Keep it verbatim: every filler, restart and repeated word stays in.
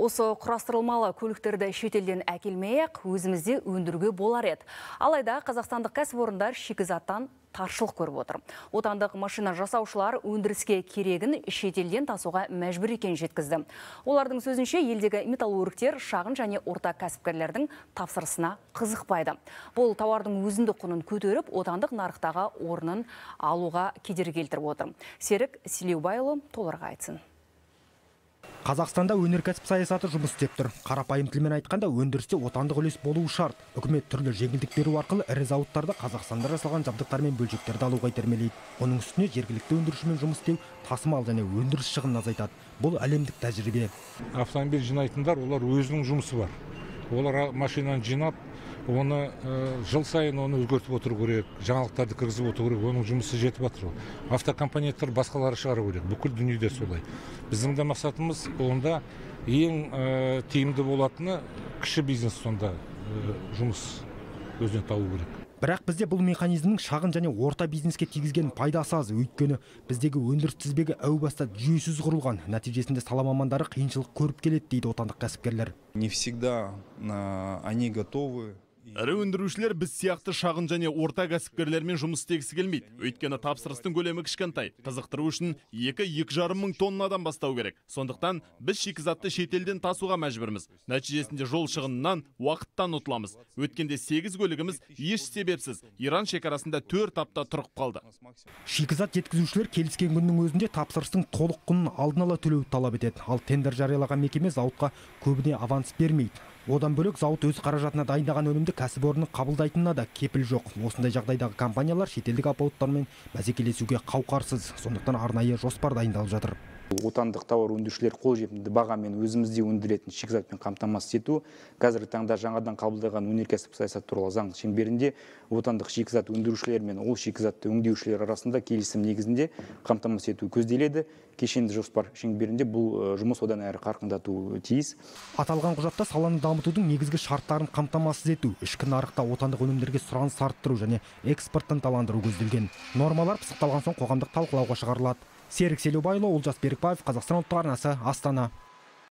Осы құрастырылмалы көліктерді шетелден әкелмей-ақ өзімізде өндіруге болар еді. Алайда қазақстандық кәсіпорындар шикізаттан таршылық көріп отыр. Отандық машина жасаушылар өндіріске керегін шетелден тасуға мәжбүр екенін жеткізді. Олардың сөзінше, елдегі металлургтер шағын және орта кәсіпкерлердің тапсырысына қызықпайды. Бұл тауардың өзіндік құнын көтеріп, отандық нарықтағы орнын алуға кедергі келтіріп отыр. Серік Селеубайұлы толығырақ айтсын. Қазақстанда өнеркәсіп саясаты жұмыс істеп тұр. Қарапайым тілмен айтқанда, өндірісте отандық үлес болуы шарт. Үкімет түрлі жеңілдік беру арқылы ірі зауыттарды Қазақстанда жасалған жабдықтар мен бөлшектерді алуға итермелейді. Оның үстіне жергілікті өндірушімен жұмыс істеу, тасымал және өндіріс шығынын азайтады. Бұл әлемдік тәжірибе. Автомобиль жинайтындар, олар өзінің жұмысы бар. Олар машинаны жинап, оны жыл сайын оны өзгертіп отыру керек, жаңалықтарды кіргізіп отыру керек, оның жұмысы жетіп жатыр. Автокомпаниялар басқалары шығару керек, бүкіл дүниеде солай. Біздің де мақсатымыз онда ең тиімді болатыны кіші бизнес сонда жұмыс өзіне табу керек. Бірақ бізде бұл механизмнің шағын және орта бизнеске тигізген пайдасы аз, өйткені біздегі өндіріс тізбегі әу баста жүйесіз құрылған. Нәтижесінде сала мамандары қиыншылық көріп келеді дейді отандық кәсіпкерлер. Не всегда они готовы. Ірі өндірушілер біз сияқты шағын және орта кәсіпкерлермен жұмыс істегісі келмейді. Өйткені тапсырыстың көлемі кішкентай. Қызықтыру үшін екі-екі жарым мың тоннадан бастау керек. Сондықтан біз шикізатты шетелден тасуға мәжбүрміз. Нәтижесінде жол шығынынан, уақыттан ұтыламыз. Өткенде сегіз көлігіміз еш себепсіз Иран шекарасында төрт апта тұрып қалды. Шикізат жеткізушілер келіскен күннің өзінде тапсырыстың толық құнын алдын ала төлеуді талап етеді. Ал тендер жариялаған мекеме зауытқа көбіне аванс бермейді. Одан бөлек зауыт өз қаражатына дайындаған өнімді кәсіпорынның қабылдайтынына да кепіл жоқ. Осындай жағдайдағы компаниялар шетелдік алпауыттармен бәсекелесуге қауқарсыз. Сондықтан арнайы жоспар дайындалып жатыр. Отандық тауар өндірушілер қолжетімді бағамен өзімізде өндіретін шикізатпен қамтамасыз ету, қазіргі таңда жаңадан қабылданған өнеркәсіп саясаты туралы заң шеңберінде отандық шикізат өндірушілер мен ол шикізатты өңдеушілер арасында келісім негізінде қамтамасыз ету көзделеді. Кешенді жоспар шеңберінде бұл жұмыс одан әрі қарқындату тиіс. Аталған құжатта саланы дамытудың негізгі шарттарын қамтамасыз ету, ішкі нарықта отандық өнімдерге сұраныс арттыру және экспортты ынталандыру көзделген. Нормалар пысықталған соң қоғамдық талқылауға шығарылады. Серік Селеубайұлы, Олжас Берікбаев, Қазақстан ұлттық арнасы, Астана.